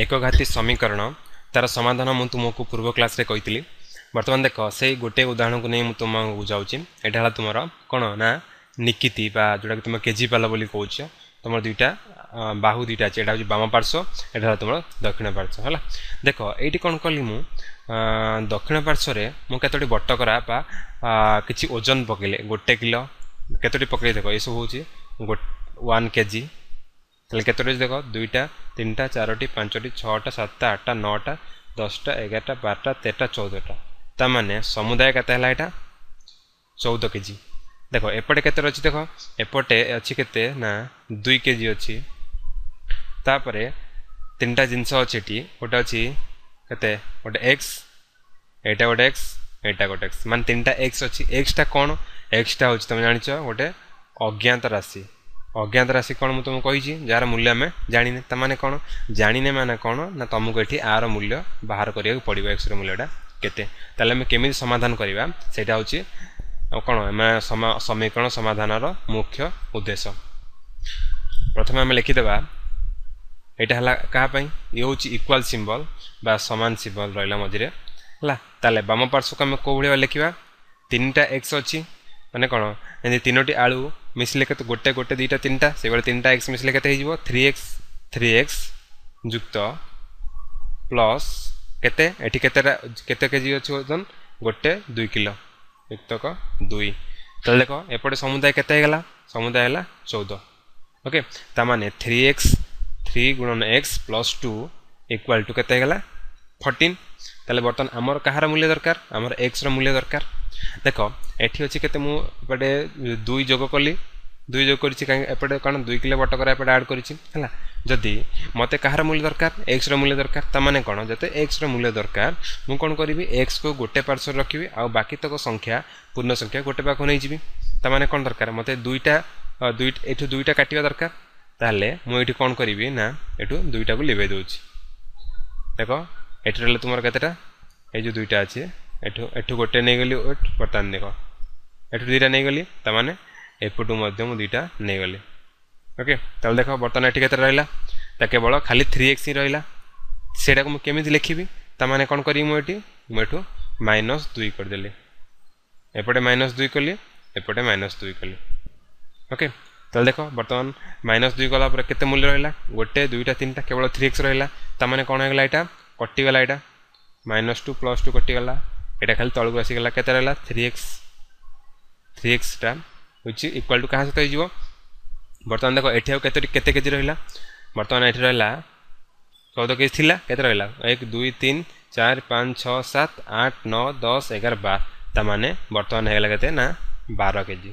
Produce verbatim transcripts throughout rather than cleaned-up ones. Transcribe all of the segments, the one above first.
ଏକଘାତୀ ସମୀକରଣ ତାର ସମାଧାନ ମୁଁ ତୁମକୁ ପୂର୍ବ କ୍ଲାସ୍ରେ କହିଥିଲି। ବର୍ତ୍ତମାନ ଦେଖ, ସେଇ ଗୋଟେ ଉଦାହରଣକୁ ନେଇ ମୁଁ ତୁମକୁ ବୁଝାଉଛି। ଏଇଟା ହେଲା ତୁମର କ'ଣ ନା ନିକିତି ବା ଯେଉଁଟାକି ତୁମେ କେଜି ପାଲ ବୋଲି କହୁଛ। ତୁମର ଦୁଇଟା ବାହୁ ଦୁଇଟା ଅଛି, ଏଇଟା ହେଉଛି ବାମ ପାର୍ଶ୍ୱ, ଏଇଟା ହେଲା ତୁମର ଦକ୍ଷିଣ ପାର୍ଶ୍ୱ। ହେଲା, ଦେଖ ଏଇଠି କ'ଣ କଲି ମୁଁ, ଦକ୍ଷିଣ ପାର୍ଶ୍ୱରେ ମୁଁ କେତୋଟି ବଟକରା ବା କିଛି ଓଜନ ପକେଇଲେ, ଗୋଟେ କିଲୋ କେତୋଟି ପକେଇ ଦେଖ, ଏସବୁ ହେଉଛି ୱାନ୍ କେଜି। ତାହେଲେ କେତୋଟି ଅଛି ଦେଖ, ଦୁଇଟା, ତିନିଟା, ଚାରୋଟି, ପାଞ୍ଚଟି, ଛଅଟା, ସାତଟା, ଆଠଟା, ନଅଟା, ଦଶଟା, ଏଗାରଟା, ବାରଟା, ତେରଟା, ଚଉଦଟା। ତାମାନେ ସମୁଦାୟ କେତେ ହେଲା? ଏଇଟା ଚଉଦ କେଜି। ଦେଖ ଏପଟେ କେତେ ଅଛି, ଦେଖ ଏପଟେ ଅଛି କେତେ ନା ଦୁଇ କେଜି ଅଛି। ତାପରେ ତିନିଟା ଜିନିଷ ଅଛି ଏଠି, ଗୋଟେ ଅଛି କେତେ, ଗୋଟେ ଏକ୍ସ, ଏଇଟା ଗୋଟେ ଏକ୍ସ, ଏଇଟା ଗୋଟେ ଏକ୍ସ, ମାନେ ତିନିଟା ଏକ୍ସ ଅଛି। ଏକ୍ସଟା କ'ଣ? ଏକ୍ସଟା ହେଉଛି ତୁମେ ଜାଣିଛ ଗୋଟେ ଅଜ୍ଞାତ ରାଶି। ଅଜ୍ଞାତ ରାଶି କ'ଣ ମୁଁ ତୁମକୁ କହିଛି, ଯାହାର ମୂଲ୍ୟ ଆମେ ଜାଣିନେ। ତାମାନେ କ'ଣ ଜାଣିନେ ମାନେ କ'ଣ ନା ତୁମକୁ ଏଠି ଆର ମୂଲ୍ୟ ବାହାର କରିବାକୁ ପଡ଼ିବ, ଏକ୍ସର ମୂଲ୍ୟଟା କେତେ। ତାହେଲେ ଆମେ କେମିତି ସମାଧାନ କରିବା, ସେଇଟା ହେଉଛି ଆଉ କ'ଣ ଆମେ ସମୀକରଣ ସମାଧାନର ମୁଖ୍ୟ ଉଦ୍ଦେଶ୍ୟ। ପ୍ରଥମେ ଆମେ ଲେଖିଦେବା, ଏଇଟା ହେଲା କାହା ପାଇଁ, ଇଏ ହେଉଛି ଇକ୍ୱାଲ୍ ସିମ୍ବଲ୍ ବା ସମାନ ସିମ୍ବଲ୍ ରହିଲା ମଝିରେ। ହେଲା, ତାହେଲେ ବାମ ପାର୍ଶ୍ୱକୁ ଆମେ କେଉଁ ଭଳି ଲେଖିବା? ତିନିଟା ଏକ୍ସ ଅଛି, ମାନେ କ'ଣ ଏମିତି ତିନୋଟି ଆଳୁ ମିଶିଲେ କେତେ, ଗୋଟେ ଗୋଟେ ଦୁଇଟା ତିନିଟା, ସେଇଭଳି ତିନିଟା ଏକ୍ସ ମିଶିଲେ କେତେ ହେଇଯିବ? ଥ୍ରୀ ଏକ୍ସ, ଥ୍ରୀ ଏକ୍ସ ଯୁକ୍ତ ପ୍ଲସ୍ କେତେ, ଏଠି କେତେଟା କେତେ କେଜି ଅଛି ଓଜନ, ଗୋଟେ ଦୁଇ କିଲୋ ଯୁକ୍ତକ ଦୁଇ। ତାହେଲେ ଦେଖ ଏପଟେ ସମୁଦାୟ କେତେ ହେଇଗଲା? ସମୁଦାୟ ହେଲା ଚଉଦ। ଓକେ, ତାମାନେ ଥ୍ରୀ ଏକ୍ସ, ଥ୍ରୀ ଗୁଣନ X plus two equal to କେତେ ହେଇଗଲା? ଫର୍ଟିନ୍। ତାହେଲେ ବର୍ତ୍ତମାନ ଆମର କାହାର ମୂଲ୍ୟ ଦରକାର? ଆମର ଏକ୍ସର ମୂଲ୍ୟ ଦରକାର। ଦେଖ ଏଠି ଅଛି କେତେ, ମୁଁ ଏପଟେ ଦୁଇ ଯୋଗ କଲି, ଦୁଇ ଯୋଗ କରିଛି କାହିଁକି ଏପଟେ, କ'ଣ ଦୁଇ କିଲୋ ବଟକରା ଏପଟେ ଆଡ଼୍ କରିଛି। ହେଲା, ଯଦି ମୋତେ କାହାର ମୂଲ୍ୟ ଦରକାର? ଏକ୍ସର ମୂଲ୍ୟ ଦରକାର। ତାମାନେ କ'ଣ, ଯେତେ ଏକ୍ସର ମୂଲ୍ୟ ଦରକାର ମୁଁ କ'ଣ କରିବି, ଏକ୍ସକୁ ଗୋଟେ ପାର୍ଶ୍ୱରେ ରଖିବି ଆଉ ବାକି ତକ ସଂଖ୍ୟା ପୂର୍ଣ୍ଣ ସଂଖ୍ୟା ଗୋଟେ ପାଖକୁ ନେଇଯିବି। ତାମାନେ କ'ଣ ଦରକାର ମୋତେ? ଦୁଇଟା, ଦୁଇ ଏଠୁ ଦୁଇଟା କାଟିବା ଦରକାର। ତାହେଲେ ମୁଁ ଏଇଠି କ'ଣ କରିବି ନା ଏଠୁ ଦୁଇଟାକୁ ଲିଭେଇ ଦେଉଛି। ଦେଖ ଏଠି ରହିଲା ତୁମର କେତେଟା, ଏଇ ଯେଉଁ ଦୁଇଟା ଅଛି, ଏଠୁ ଏଠୁ ଗୋଟେ ନେଇଗଲି, ବର୍ତ୍ତମାନ ଦେଖ ଏଠୁ ଦୁଇଟା ନେଇଗଲି, ତାମାନେ ଏପଟୁ ମଧ୍ୟ ମୁଁ ଦୁଇଟା ନେଇଗଲି। ଓକେ, ତାହେଲେ ଦେଖ ବର୍ତ୍ତମାନ ଏଠି କେତେ ରହିଲା? ତା କେବଳ ଖାଲି ଥ୍ରୀ ଏକ୍ସ ହିଁ ରହିଲା। ସେଇଟାକୁ ମୁଁ କେମିତି ଲେଖିବି? ତାମାନେ କ'ଣ କରିବି ମୁଁ ଏଠି, ମୁଁ ଏଠୁ ମାଇନସ୍ ଦୁଇ କରିଦେଲି, ଏପଟେ ମାଇନସ୍ ଦୁଇ କଲି, ଏପଟେ ମାଇନସ୍ ଦୁଇ କଲି। ଓକେ, ତାହେଲେ ଦେଖ ବର୍ତ୍ତମାନ ମାଇନସ୍ ଦୁଇ କଲା ପରେ କେତେ ମୂଲ୍ୟ ରହିଲା? ଗୋଟେ, ଦୁଇଟା, ତିନିଟା, କେବଳ ଥ୍ରୀ ଏକ୍ସ ରହିଲା। ତାମାନେ କ'ଣ ହେଇଗଲା? ଏଇଟା କଟିଗଲା, ଏଇଟା ମାଇନସ୍ ଟୁ ପ୍ଲସ୍ ଟୁ କଟିଗଲା, ଏଇଟା ଖାଲି ତଳକୁ ଆସିଗଲା। କେତେ ରହିଲା? ଥ୍ରୀ ଏକ୍ସ, ଥ୍ରୀ ଏକ୍ସଟା ହେଉଛି ଇକ୍ୱାଲ୍ ଟୁ କାହା ସହିତ ହେଇଯିବ? ବର୍ତ୍ତମାନ ଦେଖ ଏଠି ଆଉ କେତେ କେତେ କେଜି ରହିଲା? ବର୍ତ୍ତମାନ ଏଠି ରହିଲା ଚଉଦ କେଜି ଥିଲା, କେତେ ରହିଲା? ଏକ, ଦୁଇ, ତିନି, ଚାରି, ପାଞ୍ଚ, ଛଅ, ସାତ, ଆଠ, ନଅ, ଦଶ, ଏଗାର, ବାର। ତାମାନେ ବର୍ତ୍ତମାନ ହେଇଗଲା କେତେ ନା ବାର କେଜି।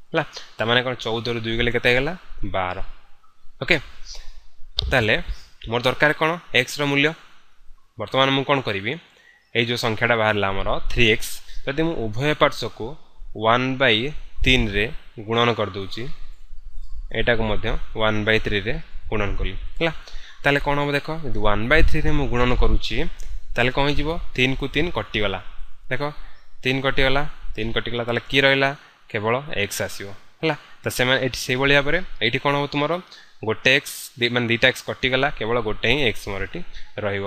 ହେଲା, ତାମାନେ କ'ଣ ଚଉଦରୁ ଦୁଇ ଗଲେ କେତେ ହେଇଗଲା? ବାର। ଓକେ, ତାହେଲେ ମୋର ଦରକାର କ'ଣ? ଏକ୍ସର ମୂଲ୍ୟ। ବର୍ତ୍ତମାନ ମୁଁ କ'ଣ କରିବି, ଏଇ ଯେଉଁ ସଂଖ୍ୟାଟା ବାହାରିଲା ଆମର ଥ୍ରୀ ଏକ୍ସ, ଯଦି ମୁଁ ଉଭୟ ପାର୍ଶ୍ୱକୁ ୱାନ୍ ବାଇ ତିନିରେ ଗୁଣନ କରିଦେଉଛି, ଏଇଟାକୁ ମଧ୍ୟ ୱାନ୍ ବାଇ ଥ୍ରୀରେ ଗୁଣନ କଲି, ହେଲା, ତାହେଲେ କ'ଣ ହେବ ଦେଖ, ଯଦି ୱାନ୍ ବାଇ ଥ୍ରୀରେ ମୁଁ ଗୁଣନ କରୁଛି ତାହେଲେ କ'ଣ ହେଇଯିବ? ତିନିକୁ ତିନି କଟିଗଲା, ଦେଖ ତିନି କଟିଗଲା, ତିନି କଟିଗଲା, ତାହେଲେ କିଏ ରହିଲା? କେବଳ ଏକ୍ସ ଆସିବ। ହେଲା, ତ ସେମାନେ ଏଠି ସେଇଭଳି ଭାବରେ ଏଇଠି କ'ଣ ହେବ ତୁମର ଗୋଟେ ଏକ୍ସ ମାନେ ଦୁଇଟା ଏକ୍ସ କଟିଗଲା, କେବଳ ଗୋଟେ ହିଁ ଏକ୍ସ ମୋର ଏଠି ରହିବ।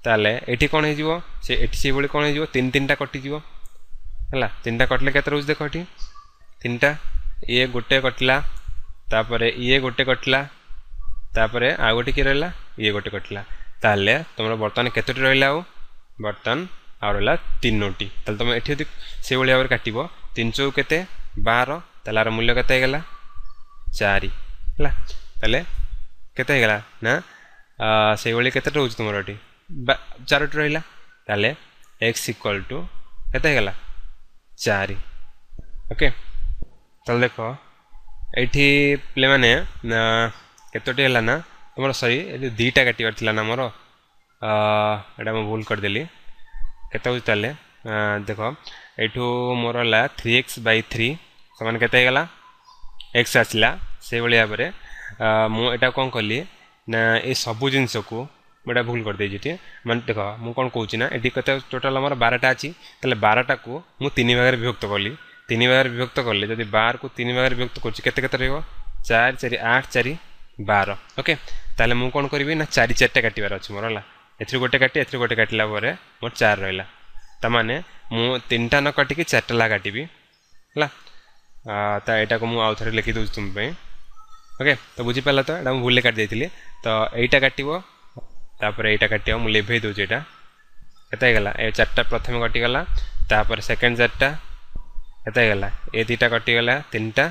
ତାହେଲେ ଏଠି କ'ଣ ହେଇଯିବ? ସେ ଏଠି ସେଇଭଳି କ'ଣ ହେଇଯିବ? ତିନି ତିନିଟା କଟିଯିବ। ହେଲା, ତିନିଟା କଟିଲେ କେତେ ରହୁଛି ଦେଖ, ଏଠି ତିନିଟା, ଇଏ ଗୋଟେ କଟିଲା, ତାପରେ ଇଏ ଗୋଟେ କଟିଲା, ତାପରେ ଆଉ ଗୋଟେ କିଏ ରହିଲା? ଇଏ ଗୋଟେ କଟିଲା। ତାହେଲେ ତୁମର ବର୍ତ୍ତମାନ କେତୋଟି ରହିଲା? ଆଉ ବର୍ତ୍ତମାନ ଆଉ ରହିଲା ତିନୋଟି। ତାହେଲେ ତୁମେ ଏଠି ଯଦି ସେଇଭଳି ଭାବରେ କାଟିବ, ତିନି ଚଉ କେତେ? ବାର। ତାହେଲେ ଆର ମୂଲ୍ୟ କେତେ ହେଇଗଲା? ଚାରି। ହେଲା, ତାହେଲେ କେତେ ହେଇଗଲା ନା ସେଇଭଳି କେତେ ରହୁଛି ତୁମର ଏଠି? ଚାରୋଟି ରହିଲା। ତାହେଲେ ଏକ୍ସ ଇକ୍ୱାଲ୍ ଟୁ କେତେ ହେଇଗଲା? ଚାରି। ଓକେ, ତାହେଲେ ଦେଖ ଏଇଠି ପିଲାମାନେ କେତୋଟି ହେଲା ନା ତୁମର, ସରି ଏଠି ଦୁଇଟା କାଟିବାର ଥିଲା ନା ମୋର, ଏଇଟା ମୁଁ ଭୁଲ କରିଦେଲି। କେତେ ହେଉଛି ତାହେଲେ ଦେଖ, ଏଇଠୁ ମୋର ହେଲା ଥ୍ରୀ ଏକ୍ସ ବାଇ ଥ୍ରୀ ସମାନ କେତେ ହେଇଗଲା? ଏକ୍ସ ଆସିଲା। ସେଇଭଳି ଭାବରେ ମୁଁ ଏଇଟା କ'ଣ କଲି ନା ଏ ସବୁ ଜିନିଷକୁ ମୁଁ ଏଇଟା ଭୁଲ କରିଦେଇଛି ଏଠି। ମାନେ ଦେଖ ମୁଁ କ'ଣ କହୁଛି ନା ଏଠି କେତେ ଟୋଟାଲ୍ ଆମର ବାରଟା ଅଛି, ତାହେଲେ ବାରଟାକୁ ମୁଁ ତିନି ଭାଗରେ ବିଭକ୍ତ କଲି। ତିନି ଭାଗରେ ବିଭକ୍ତ କଲେ ଯଦି ବାରକୁ ତିନି ଭାଗରେ ବିଭକ୍ତ କରୁଛି କେତେ କେତେ ରହିବ? ଚାରି ଚାରି ଆଠ, ଚାରି ବାର। ଓକେ, ତାହେଲେ ମୁଁ କ'ଣ କରିବି ନା ଚାରି ଚାରିଟା କାଟିବାର ଅଛି ମୋର ହେଲା ଏଥିରୁ ଗୋଟେ କାଟି ଏଥିରୁ ଗୋଟେ କାଟିଲା ପରେ ମୋର ଚାରି ରହିଲା ତାମାନେ ମୁଁ ତିନିଟା ନ କାଟିକି ଚାରିଟା ଲେଖା କାଟିବି ହେଲା ତ ଏଇଟାକୁ ମୁଁ ଆଉ ଥରେ ଲେଖିଦେଉଛି ତୁମ ପାଇଁ ଓକେ ତ ବୁଝିପାରିଲ ତ ଏଇଟା ମୁଁ ଭୁଲରେ କାଟି ଦେଇଥିଲି ତ ଏଇଟା କାଟିବ ତାପରେ ଏଇଟା କାଟିବ ମୁଁ ଲିଭେଇ ଦେଉଛି ଏଇଟା କେତେ ହେଇଗଲା ଏ ଚାରିଟା ପ୍ରଥମେ କଟିଗଲା ତାପରେ ସେକେଣ୍ଡ ଚାରିଟା କେତେ ହେଇଗଲା ଏ ଦୁଇଟା କଟିଗଲା ତିନିଟା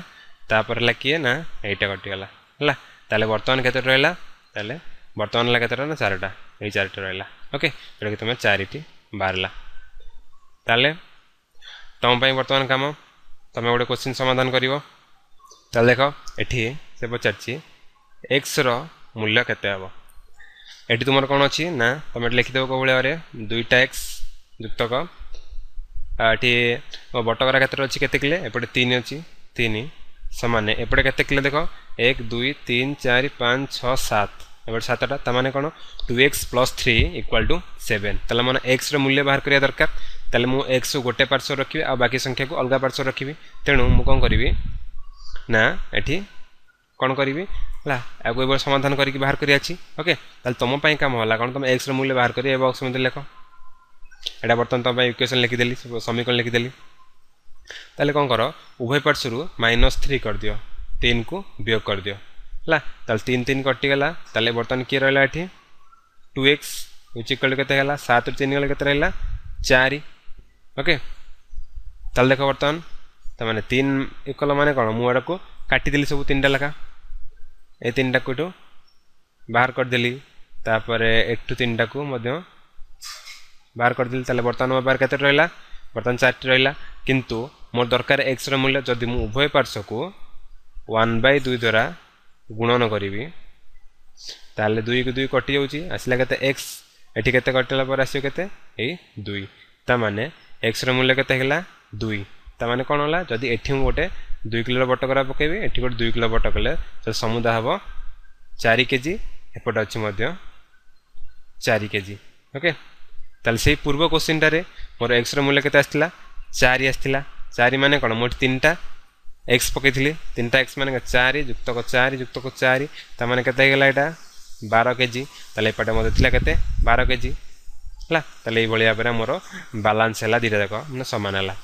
ତାପରେ ହେଲା କିଏ ନା ଏଇଟା କଟିଗଲା ହେଲା ତାହେଲେ ବର୍ତ୍ତମାନ କେତେଟା ରହିଲା ତାହେଲେ ବର୍ତ୍ତମାନ ହେଲା କେତେଟା ନା ଚାରିଟା ଏଇ ଚାରିଟା ରହିଲା ଓକେ ଯେଉଁଟାକି ତୁମେ ଚାରିଟି ବାହାରିଲା ତାହେଲେ ତୁମ ପାଇଁ ବର୍ତ୍ତମାନ କାମ ତୁମେ ଗୋଟେ କୋଶ୍ଚିନ୍ ସମାଧାନ କରିବ ତାହେଲେ ଦେଖ ଏଠି ସେ ପଚାରିଛି ଏକ୍ସର ମୂଲ୍ୟ କେତେ ହେବ ଏଠି ତୁମର କ'ଣ ଅଛି ନା ତୁମେ ଏଠି ଲେଖିଦେବ କେଉଁ ଭଳି ଭାବରେ ଦୁଇଟା ଏକ୍ସ ଯୁକ୍ତକ ଏଠି ବଟକରା କେତେଟା ଅଛି କେତେ କିଲେ ଏପଟେ ତିନି ଅଛି ତିନି ସମାନ ଏପଟେ କେତେ କିଲେ ଦେଖ ଏକ ଦୁଇ ତିନି ଚାରି ପାଞ୍ଚ ଛଅ ସାତ ଏପଟେ ସାତଟା ତାମାନେ କ'ଣ two x plus three equal to seven ତାହେଲେ ମାନେ ଏକ୍ସର ମୂଲ୍ୟ ବାହାର କରିବା ଦରକାର ତାହେଲେ ମୁଁ ଏକ୍ସକୁ ଗୋଟେ ପାର୍ଶ୍ୱ ରଖିବି ଆଉ ବାକି ସଂଖ୍ୟାକୁ ଅଲଗା ପାର୍ଶ୍ୱ ରଖିବି ତେଣୁ ମୁଁ କ'ଣ କରିବି ନା ଏଠି କ'ଣ କରିବି ହେଲା ଆକୁ ଏଭଳି ସମାଧାନ କରିକି ବାହାର କରି ଅଛି ଓକେ ତାହେଲେ ତୁମ ପାଇଁ କାମ ହେଲା କ'ଣ ତୁମେ ଏକ୍ସର ମୂଲ୍ୟ ବାହାର କରି ଏ ବକ୍ସ ମଧ୍ୟରେ ଲେଖ ଏଇଟା ବର୍ତ୍ତମାନ ତୁମ ପାଇଁ ଇକ୍ୱେସନ୍ ଲେଖିଦେଲି ସମୀକରଣ ଲେଖିଦେଲି ତାହେଲେ କ'ଣ କର ଉଭୟ ପାର୍ଶ୍ୱରୁ ମାଇନସ୍ ଥ୍ରୀ କରିଦିଅ ତିନିକୁ ବିୟୋଗ କରିଦିଅ ହେଲା ତାହେଲେ ତିନି ତିନି କଟିଗଲା ତାହେଲେ ବର୍ତ୍ତମାନ କିଏ ରହିଲା ଏଠି ଟୁ ଏକ୍ସ which equal କେତେ ହେଲା ସାତରୁ ତିନି ଗଲେ କେତେ ରହିଲା ଚାରି ଓକେ ତାହେଲେ ଦେଖ ବର୍ତ୍ତମାନ ତାମାନେ ତିନି ଇକ୍ୱାଲ୍ ମାନେ କ'ଣ ମୁଁ ଏଟାକୁ କାଟିଦେଲି ସବୁ ତିନିଟା ଲେଖା ଏ ତିନିଟାକୁ ଏଠୁ ବାହାର କରିଦେଲି ତାପରେ ଏଠୁ ତିନିଟାକୁ ମଧ୍ୟ ବାହାର କରିଦେଲି ତାହେଲେ ବର୍ତ୍ତମାନ ମୋ ପାଖରେ କେତେ ରହିଲା ବର୍ତ୍ତମାନ ଚାରିଟି ରହିଲା କିନ୍ତୁ ମୋର ଦରକାର ଏକ୍ସର ମୂଲ୍ୟ ଯଦି ମୁଁ ଉଭୟ ପାର୍ଶ୍ୱକୁ ୱାନ୍ ବାଇ ଦୁଇ ଦ୍ୱାରା ଗୁଣନ କରିବି ତାହେଲେ ଦୁଇକୁ ଦୁଇ କଟିଯାଉଛି ଆସିଲା କେତେ ଏକ୍ସ ଏଠି କେତେ କଟିଲା ପରେ ଆସିବ କେତେ ଏଇ ଦୁଇ ତାମାନେ ଏକ୍ସର ମୂଲ୍ୟ କେତେ ହେଇଗଲା ଦୁଇ ତାମାନେ କ'ଣ ହେଲା ଯଦି ଏଠି ମୁଁ ଗୋଟେ ଦୁଇ କିଲୋର ବଟକରା ପକାଇବି ଏଠି ଗୋଟେ ଦୁଇ କିଲୋ ବଟ କଲେ ତାହେଲେ ସମୁଦାୟ ହେବ ଚାରି କେଜି ଏପଟେ ଅଛି ମଧ୍ୟ ଚାରି କେଜି ଓକେ ତାହେଲେ ସେଇ ପୂର୍ବ କୋଶ୍ଚିନ୍ଟାରେ ମୋର ଏକ୍ସର ମୂଲ୍ୟ କେତେ ଆସିଥିଲା ଚାରି ଆସିଥିଲା ଚାରି ମାନେ କ'ଣ ମୁଁ ଏଠି ତିନିଟା ଏକ୍ସ ପକାଇଥିଲି ତିନିଟା ଏକ୍ସ ମାନେ ଚାରି ଯୁକ୍ତକ ଚାରି ଯୁକ୍ତକ ଚାରି ତାମାନେ କେତେ ହେଇଗଲା ଏଇଟା ବାର କେଜି ତାହେଲେ ଏପଟେ ମଧ୍ୟ ଥିଲା କେତେ ବାର କେଜି ହେଲା ତାହେଲେ ଏଇଭଳି ଭାବରେ ମୋର ବାଲାନ୍ସ ହେଲା ଦୁଇଟା ଯାକ ମାନେ ସମାନ ହେଲା